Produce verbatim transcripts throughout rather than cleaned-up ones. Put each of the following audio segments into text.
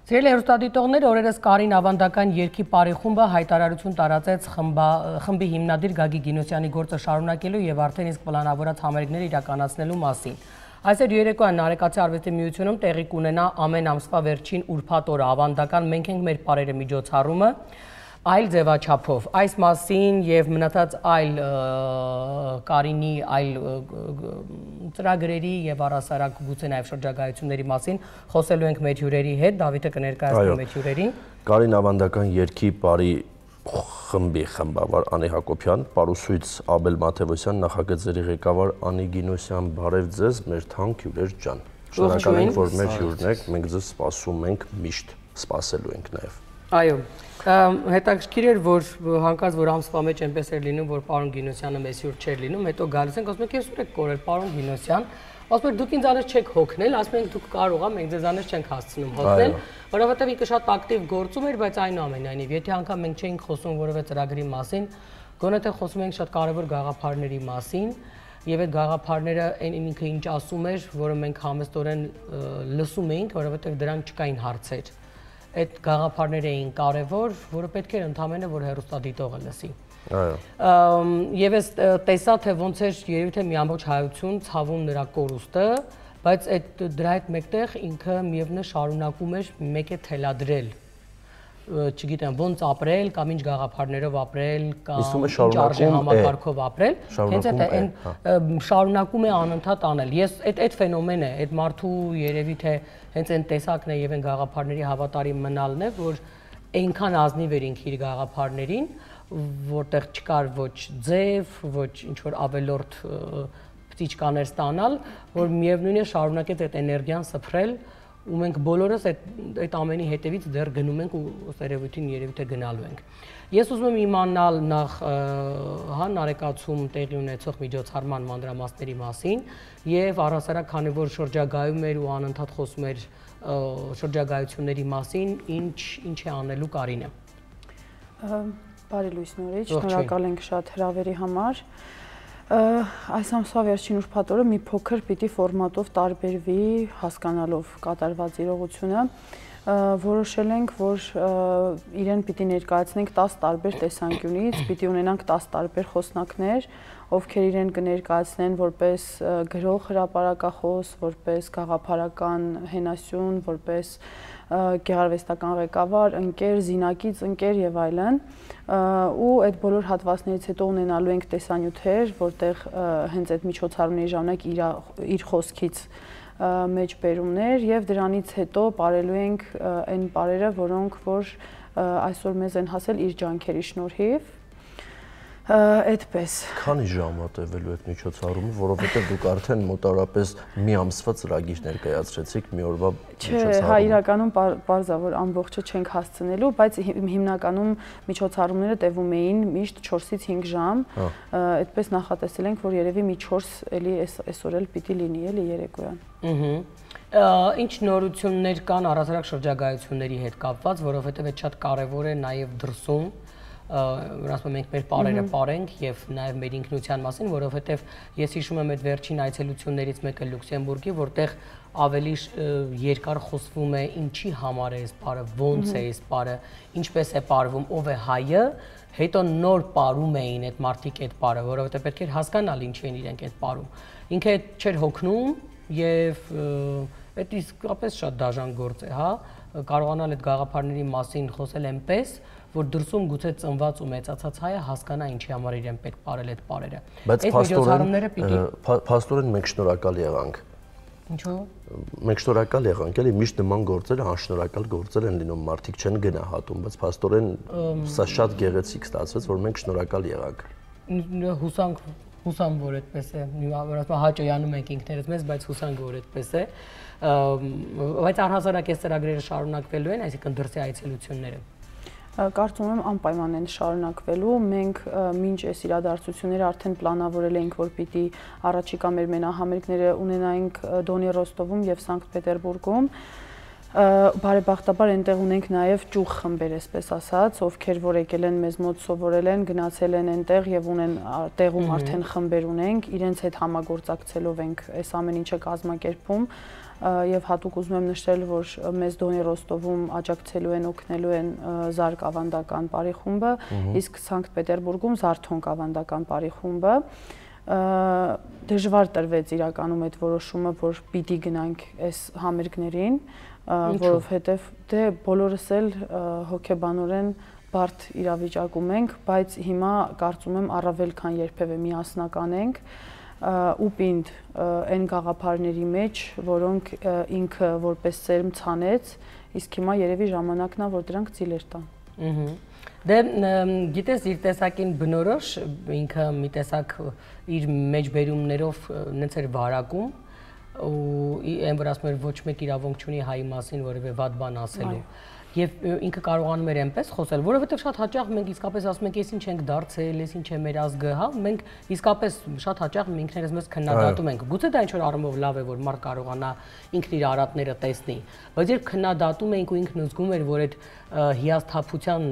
Սիրելի հեռուստադիտողներ, օրերս Կարին ավանդական երգի պարի խումբը հայտարարություն տարածեց խմբի հիմնադիր Գագիկ Գինոսյանի գործը շարունակելու եւ արդեն իսկ պլանավորած համերգներ իրականացնելու մասին։ Այսօր երեկոյան Նարեկացի արվեստի միությունում տեղի կունենա ամեն ամսվա վերջին ուրբաթ օրը ավանդական մենք ենք մեր պարերը միջոցառումը այլ ձևաչափով։ Այս մասին եւ մնացած այլ Կարինի այլ ծրագրերի եւ առասարակ գուցե նաեւ շրջագայությունների մասին խոսելու ենք մեր հյուրերի հետ։ Դավիթը կներկայացնի մեր հյուրերին։ Կարին ավանդական երգի պարի խմբի խմբավար Անի Հակոբյան, պարուսույց Աբել Մաթևոսյան, նախագծերի ղեկավար Անի Գինոսյան, բարև ձեզ, մեր թանկ հյուրեր ջան։ Շնորհակալ ենք, որ մեր հյուրն եք, մենք ձեզ սպասում ենք, միշտ սպասելու ենք նաեւ։ Այո, հետաքրքիր էր, որ հանկարծ որ ամսվա մեջ այնպես էր լինում, որ պարոն Գինոսյանը մեզ հյուր չէր լինում, հետո գալիս ենք, ասում ենք, ես ուր եք կորել, պարոն Գինոսյան, ասում եք դուք ինձանից չեք հոգնել, ասում ենք դուք կարող ա, մենք ձեզանից չենք հասցնում հոգնել, որովհետև ինքը շատ ակտիվ գործում էր, բայց այնուամենայնիվ, եթե անգամ մենք չէինք խոսում որևէ ծրագրի մասին, գոնե թե խոսում ենք շատ կարևոր գաղափարների մասին, եւ այդ գաղափարները այն ինքը ինչ ասում էր, որը մենք համեստորեն լսում էինք, որովհետև դրան չկային հարցեր։ Այդ գաղափարները էին կարևոր, որը պետք էր ընդհանրապես որ հեռուստադիտողը լսի։ Այո։ Եվ ես տեսա թե ոնց էր երևի թե մի ամբողջ հայություն ցավում նրա կորուստը, բայց այդ դրա հետ մեկտեղ ինքը միևնույն շարունակում էր մեկ է թելադրել, չգիտեմ ոնց ապրել կամ ինչ գաղափարներով ապրել կամ ինչ արժե համակարգով ապրել, հենց այդ այն շարունակում է անընդհատ անել։ Ես այդ այդ ֆենոմենն է, այդ մարդու երևի թե հենց այն տեսակն է եւ այն գաղափարների հավատարիմ մնալն է, որ այնքան ազնիվ էր ինքը իր գաղափարներին, որտեղ չկար ոչ ձև, ոչ ինչ որ ավելորդ պտիչկաներ ստանալ, որ միևնույն է շարունակեց այդ էներգիան սփռել ու մենք բոլորս այդ այդ ամենի հետևից դեռ գնում ենք ու երևույթին երևի թե գնալու ենք։ Ես ուզում եմ իմանալ նախ հա Նարեկացում տեղի ունեցող միջոցառման մանրամասների մասին եւ առհասարակ քանի որ շրջագայում էր ու անընդհատ խոսում էր շրջագայությունների մասին, ինչ ինչ է անելու Կարինը։ Բարի լույս նորից, շնորհակալ ենք շատ հրավերի համար։ Այս ամսվա վերջին ուրբաթ օրը մի փոքր պիտի ֆորմատով տարբերվի հասկանալով կատարված իրողությունը, որոշել ենք, որ իրեն պիտի ներկայացնենք տասը տարբեր տեսանկյունից, պիտի ունենանք տասը տարբեր խոսնակներ, ովքեր իրեն կներկայացնեն որպես գրող հրապարակախոս, որպես գաղափարական հենասյուն, որպես գեղարվեստական ղեկավար, ընկեր, զինակից ընկեր եւ այլն, ու այդ բոլոր հատվածներից հետո ունենալու ենք տեսանյութեր, որտեղ հենց այդ միջոցառումների ժամանակ իր իր խոսքից մեջ բերումներ եւ դրանից հետո ապարելու ենք այն բարերը, որոնք որ այսօր մեզ են հասել իր ջանքերի շնորհիվ։ Այդպես։ Քանի ժամ ա տևելու այդ միջոցառումը, որովհետև դուք արդեն մոտավորապես մի ամսվա ծրագիր ներկայացրեցիք մի օրվա միջոցառումը։ Չէ, հա իրականում բարձա որ ամբողջը չենք հասցնելու, բայց հիմնականում միջոցառումները տևում էին միշտ չորսից հինգ ժամ, այդպես նախատեսել ենք, որ երևի մի չորս էլի այսօր էլ պիտի լինի, էլի երեկոյան։ Ահա։ Ինչ նորություններ կան առասարակ շրջագայությունների հետ կապված, որովհետև այդ շատ կարևոր է նաև դրսում ասում ենք մեր պարերը պարենք եւ նաեւ մեր ինքնության մասին, որովհետեւ ես հիշում եմ այդ վերջին այցելություններից մեկը Լյուքսեմբուրգի, որտեղ ավելի երկար խոսվում է ինչի համար է այս պարը, ոնց է այս պարը, ինչպես է պարվում, ով է հայը, հետո նոր պարում էին այդ մարդիկ այդ պարը, որովհետեւ պետք էր հասկանալ ինչի են իրենք այդ պարում։ Ինքը չէր հոգնում եւ այդ իսկապես շատ դաժան գործ է, հա, կարողանալ այդ գաղափարների մասին խոսել այնպես, որ դրսում գուցե ծնված ու մեծացած հայը հասկանա ինչի համար իրեն պետք պարել այդ պարերը։ Բայց փաստորեն մենք շնորհակալ եղանք։ Ինչու՞։ Մենք շնորհակալ եղանք, էլի միշտ նման գործերը անշնորհակալ գործեր են լինում, մարդիկ չեն գնահատում, բայց փաստորեն սա շատ գեղեցիկ ստացվեց, որ մենք շնորհակալ եղանք։ Հուսանք, հուսամ որ այդպես է։ Ասում հաճոյանում ենք ինքներս մեզ, բայց հուսանք որ այդպես է։ Բայց առհասարակ այս ծրագրերը շարունակվելու են, այսինքն դրսի այցելությունները։ Կարծում եմ անպայման են շարունակվելու, մենք մինչ այս իրադարձությունները արդեն պլանավորել էինք, որ պիտի առաջիկա մեր մենահամերգները ունենայինք Դոնի Ռոստովում եւ Սանկտ Պետերբուրգում, Բարեբախտաբար այնտեղ ունենք նաև ճյուղ խմբեր, այսպես ասած, ովքեր որ եկել են մեզ մոտ սովորել են, գնացել են այնտեղ եւ ունեն տեղում արդեն խմբեր ունենք, իրենց հետ համագործակցելով ենք այս ամեն ինչը կազմակերպում եւ հատուկ ուզում եմ նշել, որ մեզ Դոնի Ռոստովում աջակցելու են, օգնելու են Զարկ ավանդական բարի խումբը, իսկ Սանկտ Պետերբուրգում Զարթոնկ ավանդական բարի խումբը դժվար տրվեց իրականում այդ որոշումը, որ պիտի գնանք այս համերգներին, որովհետև դե բոլորս էլ հոգեբանորեն բարդ իրավիճակում ենք, բայց հիմա կարծում եմ առավել քան երբևէ միասնական ենք ու պինդ այն գաղափարների մեջ, որոնք ինքը որպես ծերմ ցանեց, իսկ հիմա երևի ժամանակն է, որ դրանք ծիլեր տան։ Դե գիտես իր տեսակին բնորոշ ինքը մի տեսակ իր մեջբերումներով նենց էր վարակում ու այն որ ասում էր ոչ մեկ իրավունք չունի հայի մասին որևէ վատ բան ասելու եւ ինքը կարողանում էր այնպես խոսել, որովհետեւ շատ հաճախ մենք իսկապես ասում ենք, ես ինչ ենք դարձել, ես ինչ է մեր ազգը, հա, մենք իսկապես շատ հաճախ ինքներս մեզ քննադատում ենք։ Գուցե դա ինչ որ առումով լավ է, որ մարդ կարողանա ինքն իր արատները տեսնի, բայց երբ քննադատում ենք ու ինքն զգում էր, որ այդ հիասթափության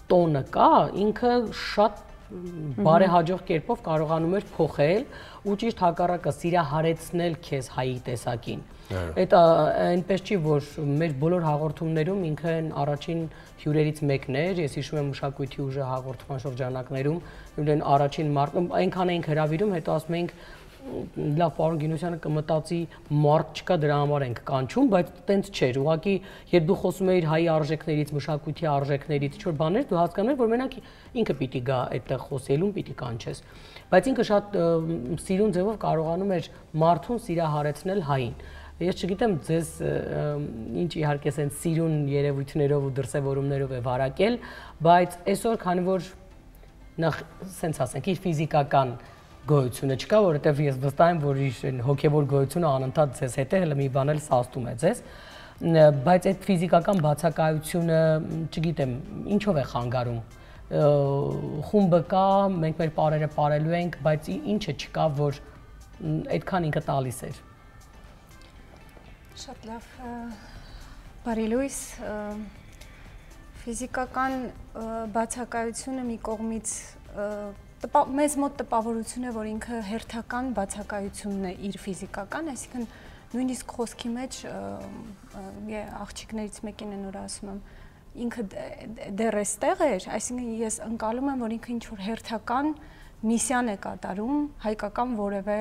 տոնը կա, ինքը շատ բարեհաջող կերպով կարողանում էր փոխել ու ճիշտ հակառակը սիրահարեցնել քեզ հայի տեսակին։ Այդ այնպես չի, որ մեր բոլոր հաղորդումներում ինքը առաջին հյուրերից մեկն էր, ես հիշում եմ մշակույթի ուժը հաղորդման շրջանակներում, իրեն առաջին մարդը այնքան էինք հրավիրում, հետո ասում էինք լավ, պարոն Գինոսյանը կմտածի մարդ չկա, դրա համար ենք կանչում, բայց տենց չէր, ուղղակի երբ դու խոսում էիր հայի արժեքներից, մշակույթի արժեքներից, ինչ-որ բաներ, դու հասկանում ես, որ մենակ ինքը պիտի գա այդտեղ խոսելուն, պիտի կանչես, բայց ինքը շատ սիրուն ձևով կարողանում էր մարդուն սիրահարեցնել հային։ Ես չգիտեմ ձեզ ինչ իհարկե սենց սիրուն երևույթներով ու դրսևորումներով է վարակել, բայց այսօր քանի որ նախ սենց ասենք իր ֆիզիկական գոյությունը չկա, որովհետև ես վստահ եմ, որ իր հոգևոր գոյությունը անընդհատ ձեզ հետ է, հələ մի բան էլ սաստում է ձեզ, բայց այդ ֆիզիկական բացակայությունը, չգիտեմ, ինչով է խանգարում։ Խումբը կա, մենք մեր պարերը պարելու ենք, բայց ինչը չկա, որ այդքան ինքը տալիս էր։ Շատ լավ, բարի լույս, ֆիզիկական բացակայությունը մի կողմից մեզ մոտ տպավորություն է, որ ինքը հերթական բացակայությունն է իր ֆիզիկական, այսինքն նույնիսկ խոսքի մեջ աղջիկներից մեկին են որ ասում եմ, ինքը դեռ էստեղ էր, այսինքն ես ընկալում եմ, որ ինքը ինչ-որ հերթական միսիան է կատարում, հայկական որևէ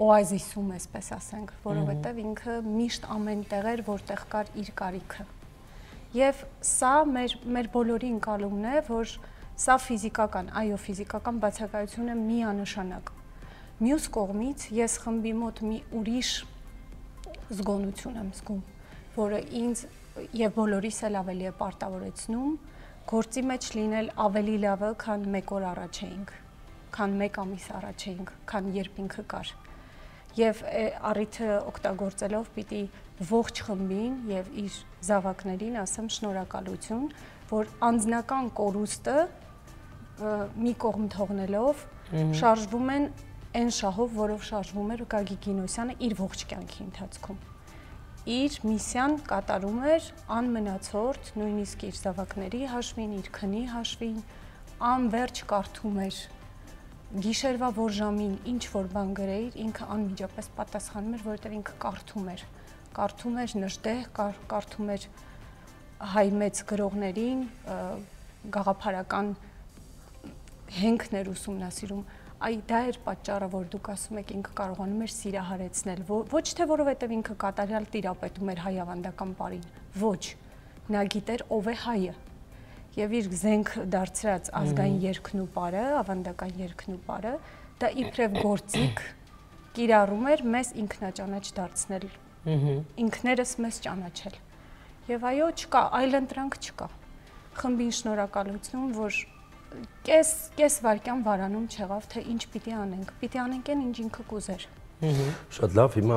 օազիսում, այսպես ասենք, որովհետև ինքը միշտ ամեն տեղ էր, որտեղ կար իր կարիքը։ Եվ սա մեր բոլորի ընկալումն է, որ սա ֆիզիկական, այո, ֆիզիկական բացակայությունը միանշանակ։ Մյուս կողմից ես խմբի մոտ մի ուրիշ զգոնություն եմ զգում, որը ինձ եւ բոլորիս էլ ավելի է պարտավորեցնում գործի մեջ լինել ավելի լավը, քան մեկ օր առաջ էինք, քան մեկ ամիս առաջ էինք, քան երբ ինքը կար։ Եվ առիթը օգտագործելով պիտի ողջ խմբին եւ իր զավակներին ասեմ շնորհակալություն, որ անձնական կորուստը մի կողմ թողնելով շարժվում են այն շահով, որով շարժվում էր Գագիկ Գինոսյանը իր ողջ կյանքի ընթացքում։ Իր միսիան կատարում էր անմնացորդ, նույնիսկ իր զավակների հաշվին, իր քնի հաշվին, անվերջ կարդում էր գիշերվա որ ժամին ինչ որ բան գրեիր, ինքը անմիջապես պատասխանում էր, որովհետև ինքը կարդում էր, կարդում էր նժդեհ, կարդում էր հայ մեծ գրողներին, գաղափարական հենքներ ուսումնասիրում, այ դա էր պատճառը, որ դուք ասում եք ինքը կարողանում էր սիրահարեցնել, ոչ թե որովհետև ինքը կատարյալ տիրապետում էր հայ ավանդական պարին, ոչ, նա գիտեր ով է հայը, եւ իր զենք դարձրած ազգային երգն ու պարը, ավանդական երգն ու պարը, դա իբրև գործիք կիրառում էր մեզ ինքնաճանաչ դարձնել, ինքներս մեզ ճանաչել։ Եվ այո, չկա, այլընտրանք չկա։ Խմբին շնորհակալություն, որ կես կես վայրկյան վարանում չեղավ, թե ինչ պիտի անենք։ Պիտի անենք այն, ինչ ինքը կուզեր։ Շատ լավ, հիմա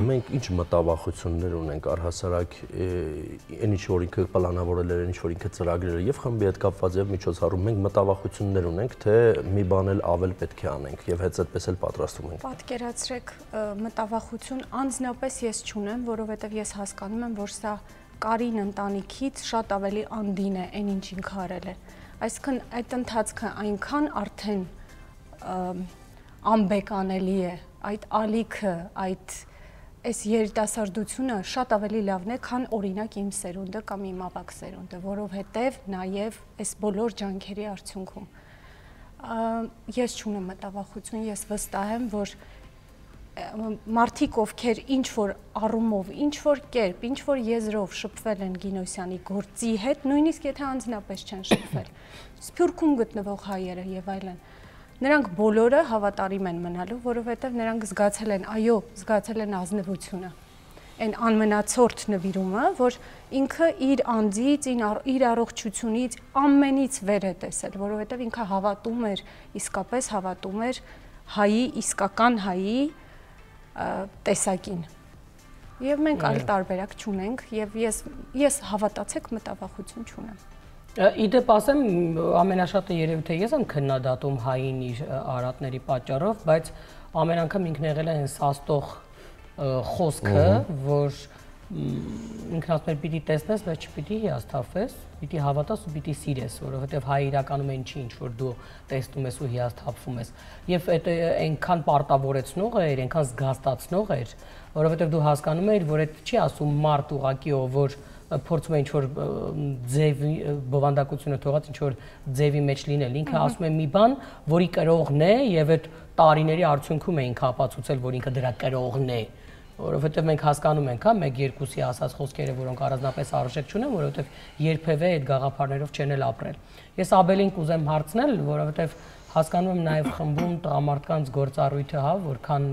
մենք ինչ մտավախություններ ունենք առհասարակ այն ինչ որ ինքը պլանավորել էր, ինչ որ ինքը ծրագրել էր եւ խմբի հետ կապված եւ միջոցառում մենք մտավախություններ ունենք, թե մի բան էլ ավել պետք է անենք եւ հենց այդպես էլ պատրաստում ենք։ Պատկերացրեք, մտավախություն անձնապես ես չունեմ, որովհետեւ ես հասկանում եմ, որ սա Կարին ընտանիքից շատ ավելի անդին է այն ինչ ինքը արել է։ Այսինքն այդ ընթացքը այնքան արդեն անբեկանելի է, այդ ալիքը, այդ այս երիտասարդությունը շատ ավելի լավն է, քան օրինակ իմ սերունդը կամ իմ ավագ սերունդը, որովհետև նաև այս բոլոր ջանքերի արդյունքում ես չունեմ մտավախություն, ես վստահ եմ, որ մարդիկ, ովքեր ինչ-որ առումով, ինչ-որ կերպ, ինչ-որ եզրով շփվել են Գինոսյանի գործի հետ, նույնիսկ եթե անձնապես չեն շփվել, Սփյուռքում գտնվող հայերը եւ այլն, նրանք բոլորը հավատարիմ են մնալու, որովհետեւ նրանք զգացել են, այո, զգացել են ազնվությունը, այն անմնացորդ նվիրումը, որ ինքը իր անձից, իր առողջությունից, ամենից վեր է տեսել, որովհետեւ ինքը հավատում էր, իսկապես հավատում էր հայի, իսկական հայի տեսակին։ Եվ մենք այլ տարբերակ չունենք եւ ես ես հավատացեք մտավախություն չունեմ։ Իդեպ ասեմ, ամենաշատը երևի թե ես եմ քննադատում հային իր արատների պատճառով, բայց ամեն անգամ ինքն եղել է հենց սաստող խոսքը, որ ինքն ասում էր պիտի տեսնես, բայց չպիտի հիասթափվես, պիտի հավատաս ու պիտի սիրես, որովհետև հայ իրականում այն չի, ինչ որ դու տեսնում ես ու հիասթափվում ես։ Եվ այդ այնքան պարտավորեցնող էր, այնքան զգաստացնող էր, որովհետև դու հասկանում ես, որ այդ չի ասում մարդ ուղակիով, որ փորձում է ինչ որ ձևի բովանդակությունը թողած ինչ որ ձևի մեջ լինել, ինքը ասում է մի բան, որի կրողն է եւ այդ տարիների արդյունքում է ինքը ապացուցել, որ ինքը դրա կրողն է, որովհետեւ մենք հասկանում ենք, հա, մեկ երկուսի ասած խոսքերը, որոնք առանձնապես արժեք չունեն, որովհետեւ երբևէ այդ գաղափարներով չեն էլ ապրել։ Ես Աբելին կուզեմ հարցնել, որովհետեւ հասկանում եմ նաեւ խմբում տղամարդկանց գործառույթը, հա, որքան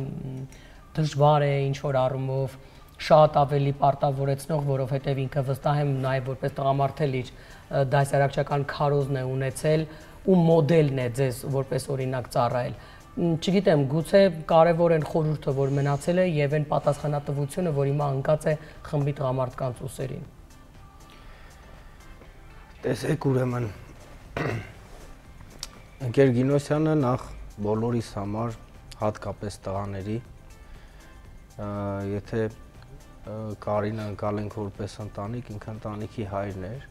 դժվար է ինչ որ առումով շատ ավելի պարտավորեցնող, որովհետև ինքը վստահ եմ նաև որպես տղամարդ էլ իր դասարակչական քարոզն է ունեցել ու մոդելն է ձեզ որպես օրինակ ծառայել։ Չգիտեմ, գուցե կարևոր են խորհուրդը, որ մնացել է եւ այն պատասխանատվությունը, որ հիմա ընկած է խմբի տղամարդկանց ուսերին։ Տեսեք ուրեմն ընկեր Գինոսյանը նախ բոլորիս համար, հատկապես տղաների, եթե Կարինը ընկալենք որպես ընտանիք, ինքը ընտանիքի հայրն էր,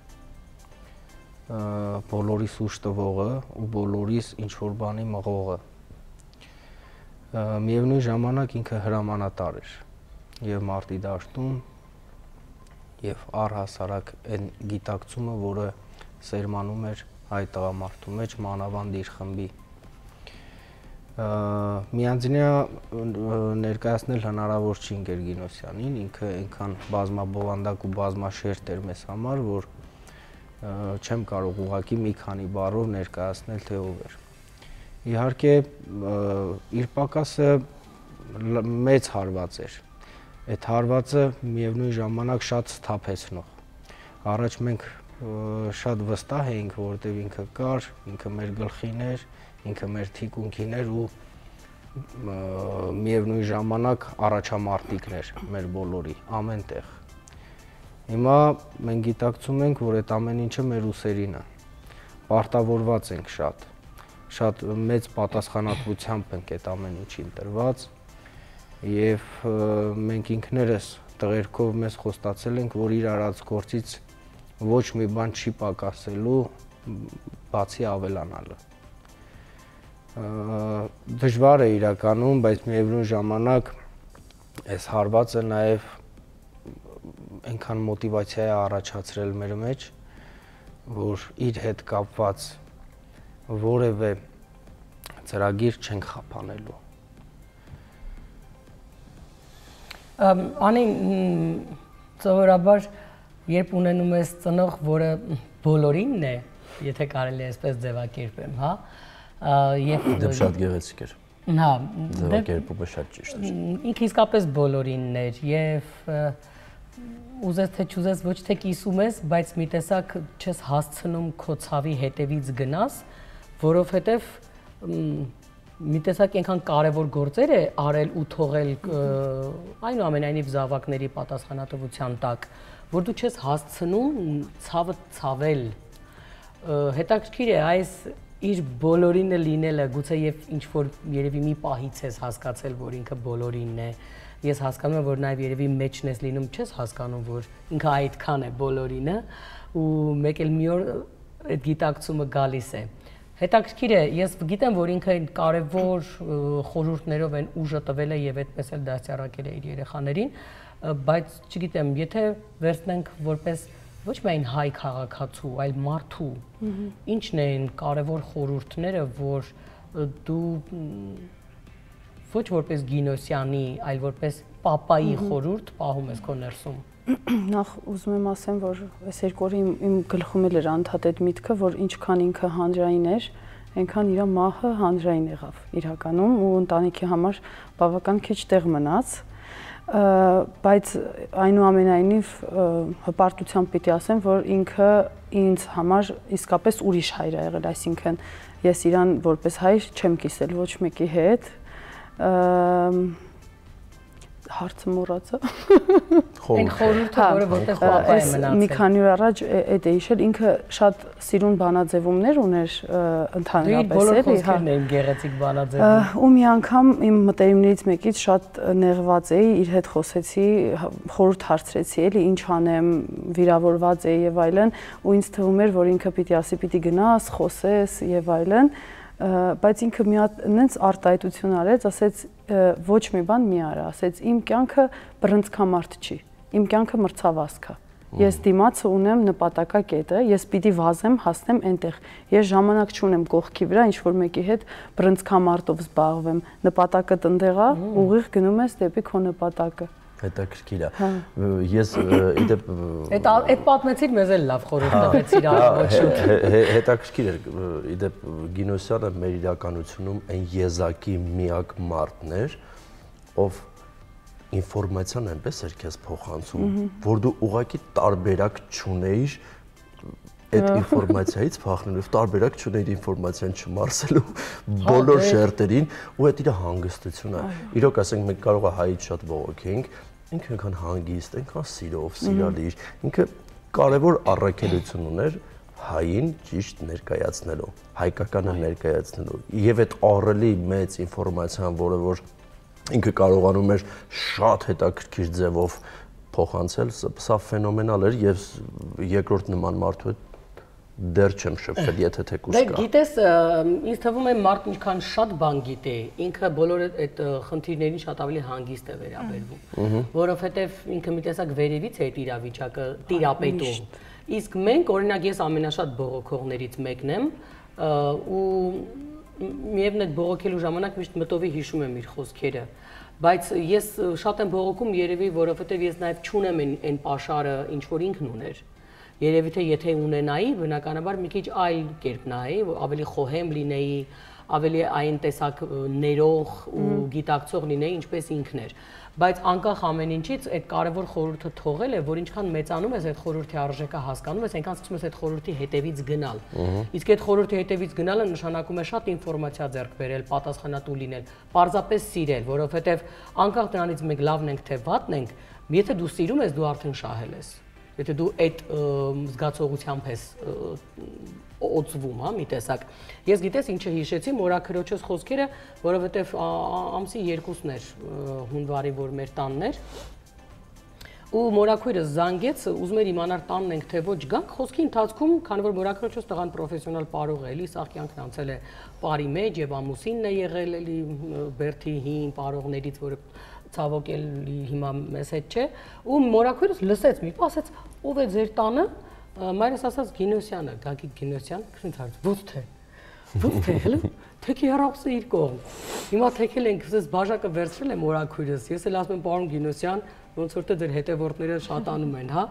բոլորիս ուշ տվողը ու բոլորիս ինչ-որ բանի մղողը։ Միևնույն ժամանակ ինքը հրամանատար էր և մարտի դաշտում և առհասարակ այն գիտակցումը, որը սերմանում էր հայ տղամարդու մեջ, մանավանդ իր խմբի։ Միանձնյա ներկայացնել հնարավոր չի ընկեր Գինոսյանին, ինքը այնքան բազմաբովանդակ ու բազմաշերտ էր մեզ համար, որ չեմ կարող ուղղակի մի քանի բառով ներկայացնել, թե ով էր։ Իհարկե իր պակասը մեծ հարված էր, այդ հարվածը միևնույն ժամանակ շատ սթափեցնող։ Առաջ մենք շատ վստահ էինք, որովհետև ինքը կար, ինքը մեր գլխին էր, ինքը մեր թիկունքին էր ու միևնույն ժամանակ առաջամարտիկն էր մեր բոլորի, ամեն տեղ։ Հիմա մենք գիտակցում ենք, որ այդ ամեն ինչը մեր ուսերին է, պարտավորված ենք շատ, շատ մեծ պատասխանատվությամբ ենք այդ ամեն ինչին տրված և մենք ինքներս տղերքով մեզ խոստացել ենք, որ իր արած գործից ոչ մի բան չի պակասելու, բացի ավելանալը։ Դժվար է իրականում, բայց միևնույն ժամանակ այս հարվածը նաև այնքան մոտիվացիա է առաջացրել մեր մեջ, որ իր հետ կապված որևէ ծրագիր չենք խափանելու։ Անի, ծովորաբար, երբ ունենում ես ծնող, որը բոլորինն է, եթե կարելի է այսպես ձևակերպեմ, հա, Դեպ շատ գեղեցիկ էր, ձևակերպումը շատ ճիշտ էր։ Ինքը իսկապես բոլորինն էր և ուզես թե չուզես ոչ թե կիսում ես, բայց մի տեսակ չես հասցնում քո ցավի հետևից գնաս, որովհետև մի տեսակ այնքան կարևոր գործեր է արել ու թողել այնուամենայնիվ զավակների պատասխանատվության տակ, որ դու չես հասցնում ցավը ցավել։ Հետաքրքիր է այս իր բոլորինը լինելը, գուցե եւ ինչ որ երևի մի պահից ես հասկացել, որ ինքը բոլորինն է։ Ես հասկանում եմ, որ նաեւ երևի մեջն ես լինում, չես հասկանում, որ ինքը այդքան է բոլորինը, ու մեկ էլ մի օր այդ գիտակցումը գալիս է։ Հետաքրքիր է, ես գիտեմ, որ ինքը կարևոր խորհուրդներով են ուժը տվել է եւ այդպես էլ դաստիարակել է իր երեխաներին, բայց չգիտեմ, եթե վերցնենք որպես ոչ միայն հայ քաղաքացու, այլ մարդու, ինչն են կարևոր խորհուրդները, որ դու ոչ որպես Գինոսյանի, այլ որպես պապայի խորհուրդ պահում ես քո ներսում։ Նախ ուզում եմ ասեմ, որ այս երկու օրը իմ գլխում էլ էր անդադ այդ միտքը, որ ինչքան ինքը հանրային էր, այնքան իր մահը հանրային եղավ իրականում ու ընտանիքի համար բավական քիչ տեղ մնաց, բայց այնուամենայնիվ հպարտությամբ պիտի ասեմ, որ ինքը ինձ համար իսկապես ուրիշ հայր է եղել, այսինքն ես իրան որպես հայր չեմ կիսել ոչ մեկի հետ, հարցը մոռացա։ Այն խորհուրդը, որը որտեղ պապա է մնացել։ Մի քանի օր առաջ այդ է հիշել, ինքը շատ սիրուն բանաձևումներ ուներ ընդհանրապես էլի, հա։ Բոլոր խոսքերն էին գեղեցիկ բանաձևում։ Ու մի անգամ իմ մտերիմներից մեկից շատ նեղված էի, իր հետ խոսեցի, խորհուրդ հարցրեցի էլի, ինչ անեմ, վիրավորված էի եւ այլն, ու ինձ թվում էր, որ ինքը պիտի ասի, պիտի գնաս, խոսես եւ այլն, բայց ինքը մի հատ նենց արտահայտություն արեց, ասեց ոչ մի բան մի արա, ասեց իմ կյանքը բռնցքամարտ չի, իմ կյանքը մրցավազք է։ Ես դիմացը ունեմ նպատակակետը, ես պիտի վազեմ, հասնեմ այնտեղ։ Ես ժամանակ չունեմ կողքի վրա ինչ որ մեկի հետ բռնցքամարտով զբաղվեմ։ Նպատակը տնտեղ է, ուղիղ գնում ես դեպի քո նպատակը։ Հետաքրքիր է։ Ես իդեպ Այդ այդ պատմեցիր մեզ էլ լավ խորհուրդ տվեցիր ոչ շուտ։ Հետաքրքիր է, իդեպ Գինոսյանը մեր իրականությունում այն եզակի միակ մարդն էր, ով ինֆորմացիան այնպես էր քեզ փոխանցում, որ դու ուղղակի տարբերակ չունեիր այդ ինֆորմացիայից փախնելով, տարբերակ չունեիր ինֆորմացիան չմարսելու բոլոր շերտերին ու այդ իր հանգստությունը։ Իրոք ասենք մենք կարող է հայից շատ բողոքենք, ինքը այնքան հանգիստ, այնքան սիրով, սիրալիր, ինքը կարևոր առաքելություն ուներ հային ճիշտ ներկայացնելու, հայկականը ներկայացնելու եւ այդ ահռելի մեծ ինֆորմացիան, որը որ ինքը կարողանում էր շատ հետաքրքիր ձևով փոխանցել, սա ֆենոմենալ էր եւ երկրորդ նման մարդու հետ դեռ չեմ շփվել, եթե թեկուզ կա։ Դե գիտես, ինձ թվում է մարդ ինչքան շատ բան գիտե, ինքը բոլոր այդ խնդիրներին շատ ավելի հանգիստ է վերաբերվում, որովհետեւ ինքը մի տեսակ վերևից է այդ իրավիճակը տիրապետում։ Իսկ մենք, օրինակ ես ամենաշատ բողոքողներից մեկն եմ ու միևն այդ բողոքելու ժամանակ միշտ մտովի հիշում եմ իր խոսքերը, բայց ես շատ եմ բողոքում երևի, որովհետեւ ես նաեւ չունեմ այն պաշարը, ինչ որ ինքն ուներ։ Երևի թե եթե ունենայի, բնականաբար մի քիչ այլ կերպ նայի, ավելի խոհեմ լինեի, ավելի այն տեսակ ներող ու գիտակցող լինեի, ինչպես ինքն էր։ Բայց անկախ ամեն ինչից այդ կարևոր խորհուրդը թողել է, որ ինչքան մեծանում ես այդ խորհրդի արժեքը հասկանում ես, այնքան սկսում ես այդ խորհրդի հետևից գնալ։ Իսկ այդ խորհրդի հետևից գնալը նշանակում է շատ ինֆորմացիա ձեռք բերել, պատասխանատու լինել, պարզապես սիրել, որովհետև անկախ դրանից մենք լավն ենք թե վատն ենք, եթե դու սիրում ես, դու արդեն շահել ես։ Եթե դու այդ զգացողությամբ ես օծվում, հա, մի տեսակ։ Ես գիտես ինչը հիշեցի մորաքրոջս խոսքերը, որովհետև ամսի երկուսն էր հունվարի, որ մեր տանն էր։ Ու մորաքույրս զանգեց, ուզում էր իմանալ տանն ենք թե ոչ գանք, խոսքի ընթացքում, քանի որ մորաքրոջս տղան պրոֆեսիոնալ պարող է, էլի, սա կյանքն անցել է պարի մեջ եւ ամուսինն է եղել, էլի, Բերթի հին պարողներից, որը ցավոք էլի հիմա մեզ հետ չէ, ու մորաքույրս լսեց, մի պահ ասեց, ով է ձեր տանը, մայրս ասաց Գինոսյանը, Գագիկ Գինոսյան, քնից հարց, ո՞ց թե։ Ո՞ց թե, հələ, թեքի հեռախոսը իր կողմ։ Հիմա թեքել ենք, ասես բաժակը վերցրել է մորաքույրս, ես էլ ասում եմ պարոն Գինոսյան, ոնց որ թե դեր հետևորդները շատանում են, հա։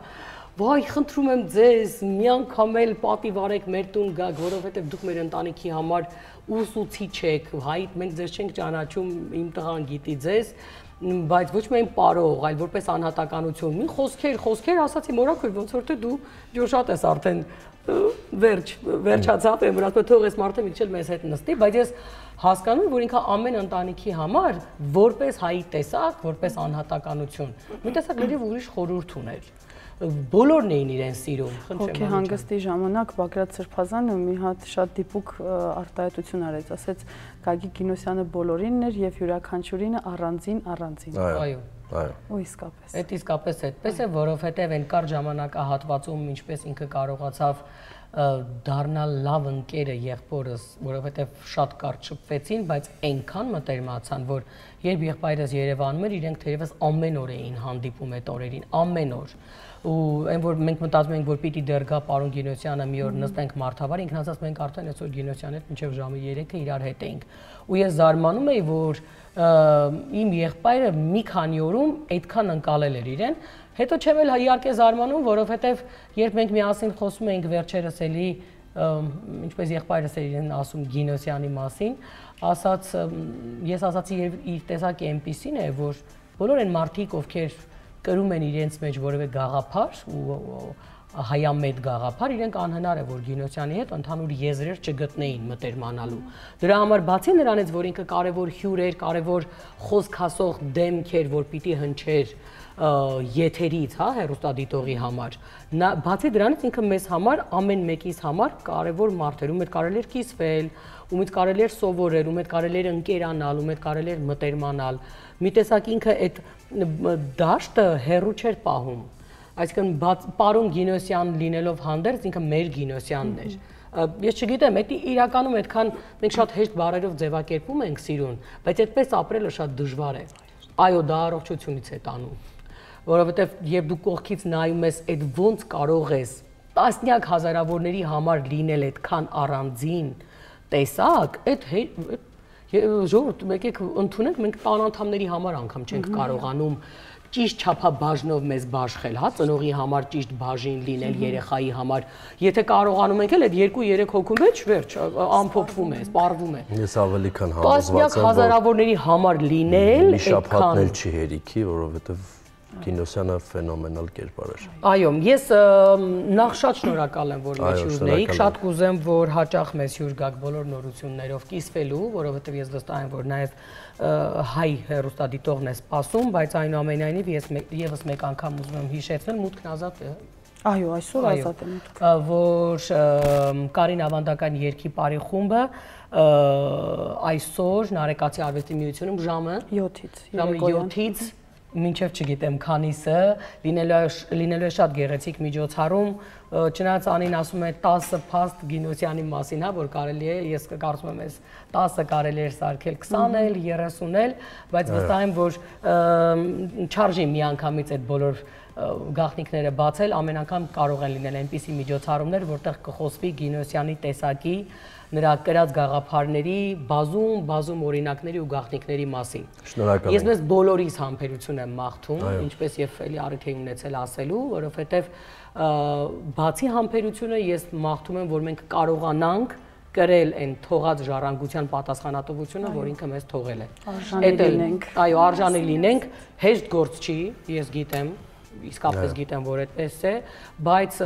Վայ, խնդրում եմ ձեզ, մի անգամ էլ պատիվ արեք մեր տուն գաք, որովհետև դուք մեր ընտանիքի համար ուսուցիչ եք, հայ մենք ձեզ չենք ճանաչում, իմ տղան գիտի ձեզ, բայց ոչ միայն պարող, այլ որպես անհատականություն։ Մի խոսքեր, խոսքեր ասացի մորակույր, ոնց որ թե դու ջոշատ ես արդեն վերջ, վերջացավ եմ, որ ասում թող ես մարդը միչել մեզ հետ նստի, բայց ես հասկանում որ ինքը ամեն ընտանիքի համար որպես հայի տեսակ, որպես անհատականություն, մի տեսակ լրիվ ուրիշ խորհուրդ ուներ։ Բոլորն էին իրեն սիրում, խնդրեմ։ Հոգի հանգստի ժամանակ Բագրատ Սրբազանը մի հատ շատ դիպուկ արտահայտություն արեց, ասեց Գագիկ Գինոսյանը բոլորինն էր եւ յուրաքանչյուրինը առանձին առանձին։ Այո, այո։ Ու իսկապես։ Այդ իսկապես այդպես է, որովհետեւ այն կար ժամանակահատվածում, ինչպես ինքը կարողացավ դառնալ լավ ընկերը եղբորս, որովհետեւ շատ կարճ շփվեցին, բայց այնքան մտերմացան, որ երբ եղբայրս Երևանում էր, իրենք թերևս ամեն օր էին հանդիպում այդ օրերին, ամեն օր։ Ու այն որ մենք մտածում ենք որ պիտի դեռ գա պարոն Գինոսյանը մի օր նստենք մարդավար, ինքն ասած մենք արդեն այսօր Գինոսյանի հետ մինչև ժամը երեքը իրար հետ էինք։ Ու ես զարմանում էի, որ իմ եղբայրը մի քանի օրում այդքան ընկալել էր իրեն։ Հետո չեմ էլ իհարկե զարմանում, որովհետև երբ մենք միասին խոսում էինք վերջերս էլի, ինչպես եղբայրս էր իրեն ասում Գինոսյանի մասին, ասաց ես ասացի իր տեսակի այնպիսին է, որ բոլոր այն մարդիկ, ովքեր կրում են իրենց մեջ որևէ գաղափար ու հայամետ գաղափար, իրենք անհնար է որ Գինոսյանի հետ ընդհանուր եզրեր չգտնեին մտերմանալու։ Դրա համար բացի նրանից, որ ինքը կարևոր հյուր էր, կարևոր խոսք ասող դեմք էր, որ պիտի հնչեր եթերից, հա, հեռուստադիտողի համար։ Բացի դրանից ինքը մեզ համար ամեն մեկիս համար կարևոր մարդ էր, ում հետ կարելի էր կիսվել, ում հետ կարելի էր սովորել, ում հետ կարելի էր ընկերանալ, ում հետ կարելի էր մտերմանալ։ Մի տեսակ ինքը այդ դաշտը հեռու չէր պահում։ Այսինքն պարոն Գինոսյան լինելով հանդերձ ինքը մեր Գինոսյանն էր։ Ես չգիտեմ, դա իրականում այդքան մենք շատ հեշտ բառերով ձևակերպում ենք սիրուն, բայց այդպես ապրելը շատ դժվար է։ Այո, դա առողջությունից է տանում, որովհետև երբ դու կողքից նայում ես, այդ ոնց կարող ես տասնյակ հազարավորների համար լինել այդքան առանձին տեսակ, այդ ժողովուրդ եկեք ընդունենք, մենք տան անդամների համար անգամ չենք կարողանում ճիշտ չափաբաժնով մեզ բաշխել, հա, ծնողի համար ճիշտ բաժին լինել, երեխայի համար։ Եթե կարողանում ենք էլ այդ երկու երեք հոգու մեջ վերջ ամփոփվում է, սպառվում է։ Ես ավելի քան համոզված եմ, տասնյակ հազարավորների համար լինել, մի շաբաթն էլ չի հերիքի, որովհետև Գինոսյանը ֆենոմենալ կերպար էր։ Այո, ես նախ շատ շնորհակալ եմ, որ մեզ հյուրն էիք, շատ կուզեմ, որ հաճախ մեզ հյուր գաք բոլոր նորություններով կիսվելու, որովհետև ես վստահ եմ, որ նաև հայ հեռուստադիտողն է սպասում, բայց այնուամենայնիվ ես եւս մեկ անգամ ուզում եմ հիշեցնել, մուտքն ազատ է։ Այո, այսօր ազատ է մուտքը։ Որ Կարին ավանդական երգի բարի խումբը այսօր Նարեկացի արվեստի միությունում ժամը յոթից, ժամը յոթից մինչև չգիտեմ քանիսը լինելու է շատ գեղեցիկ միջոցառում, չնայած Անին ասում է տասը փաստ Գինոսյանի մասին, հա, որ կարելի է, ես կարծում եմ, այս տասը կարելի է սարքել, քսանել, երեսունել, բայց վստահ եմ, որ չարժի միանգամից այդ բոլոր գաղտնիքները բացել, ամեն անգամ կարող են լինել այնպիսի միջոցառումներ, որտեղ կխոսվի Գինոսյանի տեսակի, նրա կրած գաղափարների, բազում, բազում օրինակների ու գաղտնիքների մասին։ Շնորհակալ եմ։ Ես մեզ բոլորիս համբերություն եմ մաղթում, ինչպես եւ էլի առիթ եմ ունեցել ասելու, որովհետեւ բացի համբերությունը ես մաղթում եմ, որ մենք կարողանանք կրել այն թողած ժառանգության պատասխանատվությունը, որ ինքը մեզ թողել է։ Արժանի լինենք։ Այո, արժանի լինենք, հեշտ գործ չի, ես գիտեմ, իսկապես գիտեմ, որ այդպես է, բայց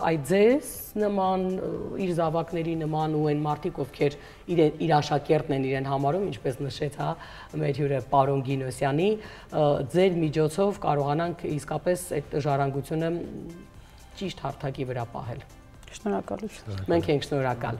այդ ձեզ նման իր զավակների նման ու այն մարդիկ, ովքեր իր աշակերտն են իրեն համարում, ինչպես նշեց, հա, մեր հյուրը պարոն Գինոսյանի, ձեր միջոցով կարողանանք իսկապես այդ ժառանգությունը ճիշտ հարթակի վրա պահել։ Շնորհակալություն։ Մենք ենք շնորհակալ։